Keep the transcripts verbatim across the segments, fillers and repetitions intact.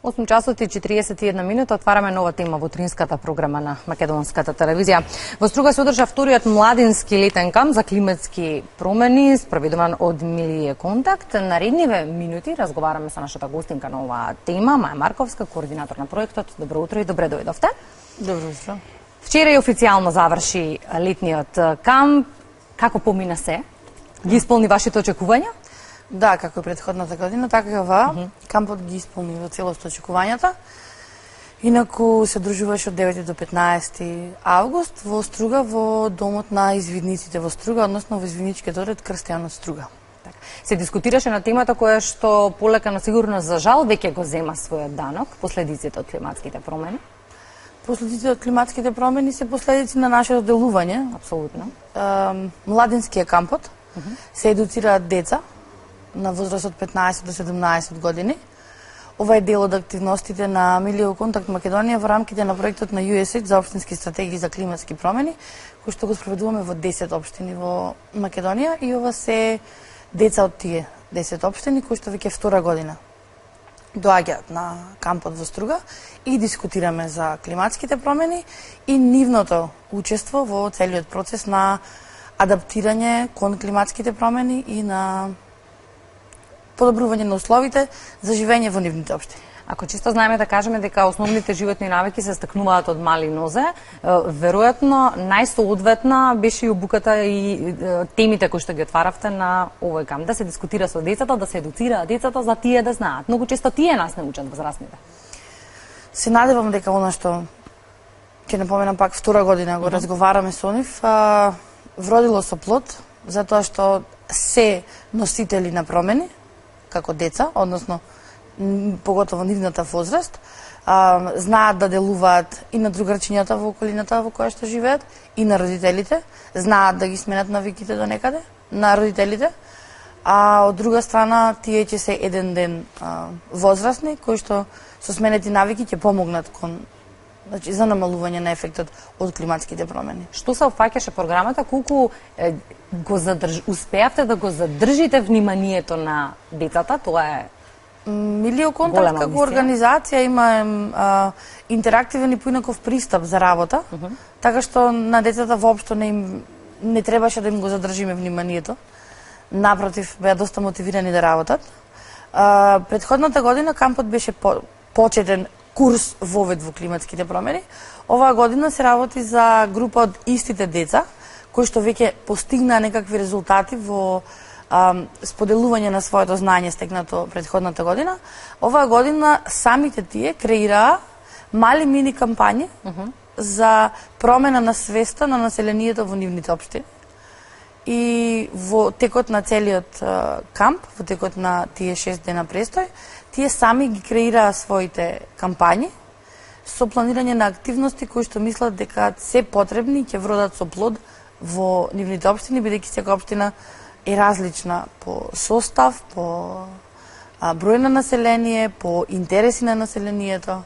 осум часот и четириесет и една минута отвараме нова тема во утринската програма на Македонската телевизија. Во Струга се одржа вториот младински летен камп за климатски промени, спроведуван од Милие Контакт. Наредниве минути разговараме со нашата гостинка на оваа тема, Маја Марковска, координатор на проектот. Добро утро и добре дојдовте. Добро утро. Вчера и официјално заврши летниот камп. Како помина се? Ги исполни вашите очекувања? Да, како и претходната година, така и ова, mm -hmm. кампот ги исполни во целост очекувањата. Инаку се одржуваше од девети до петнаесети август во Струга, во домот на извидниците во Струга, односно во извидничкиот одред Крстијан од Струга. Се дискутираше на темата која што полека на сигурно за жал веќе го зема својот данок, последиците од климатските промени. Последиците од климатските промени се последици на нашето делување. Апсолутно. Младинскиот кампот mm -hmm. се едуцираат деца на возраст од петнаесет до седумнаесет години. Ова е дел од активностите на Милие Контакт Македонија во рамките на проектот на ю ес ейч за општински стратегии за климатски промени, кој што го спроведуваме во десет општини во Македонија, и ова се деца од тие десет општини кои што веќе втора година доаѓаат на кампот во Струга и дискутираме за климатските промени и нивното учество во целиот процес на адаптирање кон климатските промени и на подобрување на условите за живење во нивните општини. Ако чисто знаеме да кажеме дека основните животни навики се стекнуваат од мали нозе, веројатно најсоодветна беше и обуката и темите кои што ги отваравте на овој камп, да се дискутира со децата, да се едуцираат децата за тие да знаат. Многу често тие нас не учат возрастните. Се надевам дека она што ќе напоменам пак втора година го разговараме со нив, вродило со плод, затоа што се носители на промени како деца, односно поготово нивната возраст, а, знаат да делуваат и на другарчињата во околината во која што живеат, и на родителите, знаат да ги сменат навиките до некаде на родителите, а од друга страна тие ќе се еден ден а, возрастни кои што со сменети навики ќе помогнат кон, значи, за намалување на ефектот од климатските промени. Што се опфаќаше програмата, колку е, го задрж... успеавте да го задржите вниманието на децата? Тоа е Милие Контакт како организација има а, интерактивен и поинаков пристап за работа, uh -huh. така што на децата воопшто не им не требаше да им го задржиме вниманието. Напротив, беа доста мотивирани да работат. А, предходната година кампот беше по, почетен курс вовед во климатските промени. Оваа година се работи за група од истите деца кои што веќе постигнаа некакви резултати во а, споделување на своето знаење стекнато предходната година. Оваа година самите тие креираа мали мини кампањи uh -huh. за промена на свеста на населението во нивните општини. И во текот на целиот а, камп, во текот на тие шест дена престој, тие сами ги креираа своите кампањи со планирање на активности кои што мислат дека се потребни и ќе вродат со плод во нивните општини, бидејќи секоја општина е различна по состав, по а, број на население, по интереси на населението.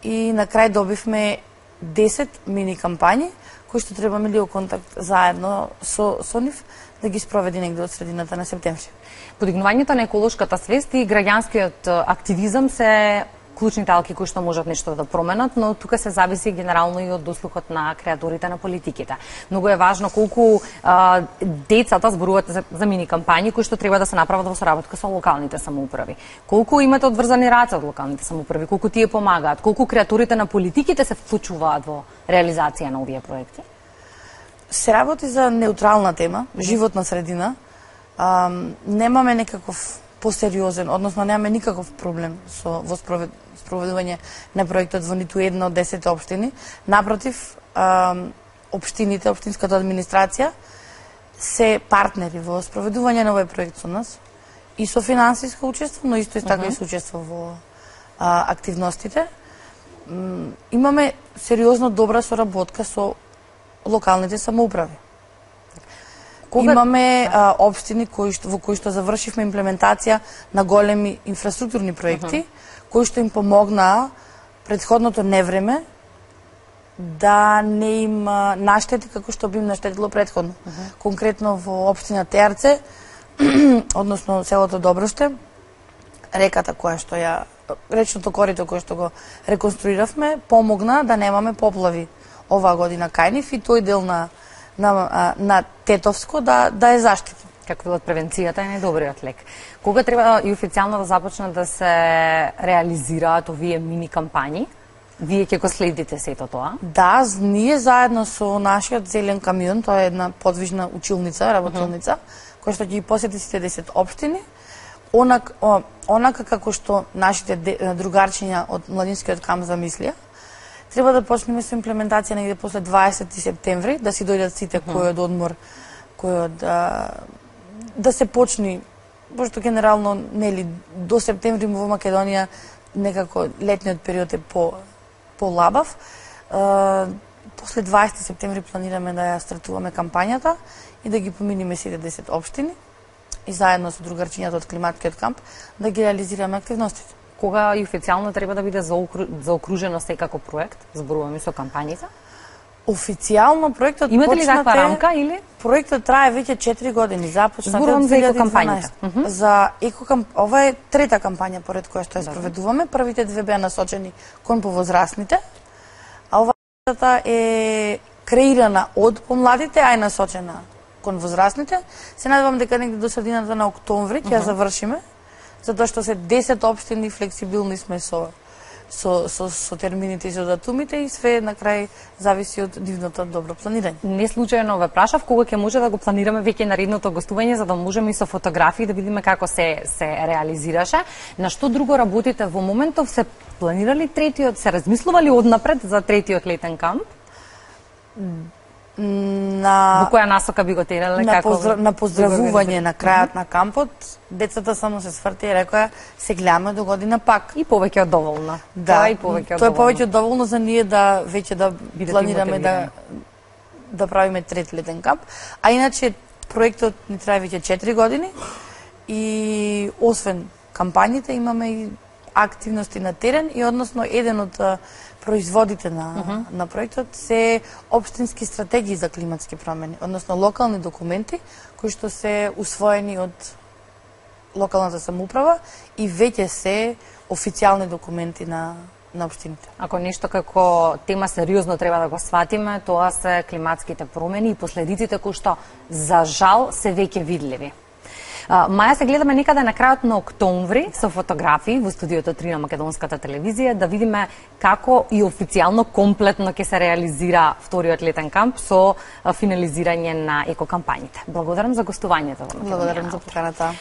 И на крај добивме десет мини кампањи кои што треба Милие Контакт заедно со, со нив да ги спроведи негде од средината на септември. Подигнувањето на еколошката свест и граѓанскиот активизам се клучни талки кои што можат нешто да променат, но тука се зависи генерално и од дослухот на креаторите на политиките. Многу е важно колку а, децата зборувате за, за мини кампањи кои што треба да се направат во соработка со локалните самоуправи. Колку имате одврзани раце од локалните самоуправи, колку тие помагаат, колку креаторите на политиките се вклучуваат во реализација на овие проекти? Се работи за неутрална тема, животна средина. А, немаме некаков посериозен, односно немаме никаков проблем со во спровед, спроведување на проектот во ниту една од десет општини. Напротив, а, општините, општинската администрација се партнери во спроведување на овој проект со нас и со финансиско учество, но исто и така uh -huh. и со учество во а, активностите. М, имаме сериозно добра соработка со локалните самоуправи. Кога... Имаме а, општини кои што, во кои што завршивме имплементација на големи инфраструктурни проекти, uh -huh. кои што им помогнаа предходното невреме да не им наштети како што би им наштетило предходно. Uh -huh. Конкретно во општина Теарце, односно селото Доброште, реката која што ја речното корито кое што го реконструиравме помогна да немаме поплави оваа година кај нив и тој дел на на на Тетовско да да е заштитен. Како велат, превенцијата е најдобриот лек. Кога треба и официјално да започнат да се реализираат овие мини кампањи? Вие ќе го следите сето тоа? Да, ние заедно со нашиот зелен камион, тоа е една подвижна училница, работилница, uh -huh. која што ќе ги посети сите десет општини, онак, о, онака како што нашите другарчиња од младинскиот камп замислија, треба да почнеме со имплементација негде после дваесети септември, да си дојдат сите uh -huh. кој од одмор, кој од да, да се почни, пошто генерално нели до септември во Македонија некако летниот период е по полабав. После дваесети септември планираме да ја стартуваме кампањата и да ги поминиме сите десет општини и заедно со другарчињата од климатскиот камп да ги реализираме активностите. Кога и официјално треба да биде заокружено секако проект? Зборуваме со кампањите? Официјално проектот имате ли таква рамка или? Проектот трае веќе четири години, започнат од за екокампањата. Uh -huh. За екокамп... ова е трета кампања поред која што ја спроведуваме. Првите две беа насочени кон повозрастните, а оваа е креирана од помладите, а е насочена кон возрастните. Се надевам дека негде до средината на октомври ќе ја uh -huh. завршиме, затоа што се десет општини, флексибилни сме со со со со термините и со датумите и све на крај зависи од нивното добро планирање. Не случајно ве прашав кога ќе може да го планираме веќе наредното гостување за да можеме и со фотографии да видиме како се се реализираше. На што друго работите во моментов? Се планирали третиот, се размислували однапред за третиот летен камп? На во која насока би го терале на, како поздра... на поздравување на крајот на кампот, децата само се сврти и рекоа се гледаме до година пак. И повеќе од доволно. Да, тоа, и повеќе од тоа е повеќе од доволно за ние да веќе да бидете планираме да да правиме трети летен камп. А иначе проектот ни трае веќе четири години и освен кампањите имаме и активности на терен и односно еден од производите на, uh -huh. на проектот се општински стратегии за климатски промени, односно локални документи кои што се усвоени од локалната самоуправа и веќе се официјални документи на на општините. Ако нешто како тема сериозно треба да го сватиме, тоа се климатските промени и последиците кои што за жал се веќе видливи. Маја, се гледаме некаде на крајот на октомври со фотографии во студиото три на Македонската телевизија да видиме како и официјално комплетно ќе се реализира вториот летен камп со финализирање на екокампањите. Благодарам за гостувањето во Македонија. Благодарам за поканата.